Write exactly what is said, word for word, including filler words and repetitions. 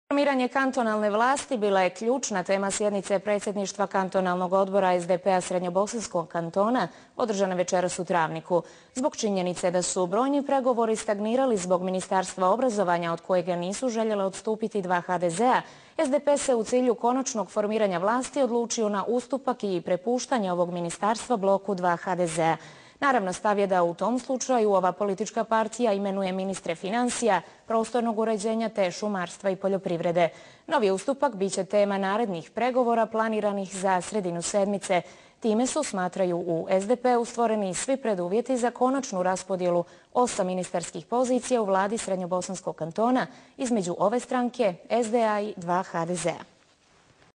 Formiranje kantonalne vlasti bila je ključna tema sjednice predsjedništva kantonalnog odbora es de pe-a Srednjobosanskog kantona, održane večeras u Travniku. Zbog činjenice da su brojni pregovori stagnirali zbog Ministarstva obrazovanja od kojega nisu željele odstupiti dva ha de ze-a, es de pe se u cilju konačnog formiranja vlasti odlučio na ustupak i prepuštanje ovog ministarstva bloku dva ha de ze-a. Naravno, stav je da u tom slučaju ova politička partija imenuje ministre financija, prostornog uređenja te šumarstva i poljoprivrede. Novi ustupak biće tema narednih pregovora planiranih za sredinu sedmice. Time su, smatraju u es de pe-u, stvoreni svi preduvjeti za konačnu raspodjelu osam ministarskih pozicija u vladi Srednjobosanskog kantona između ove stranke, es de a i dva ha de ze-a.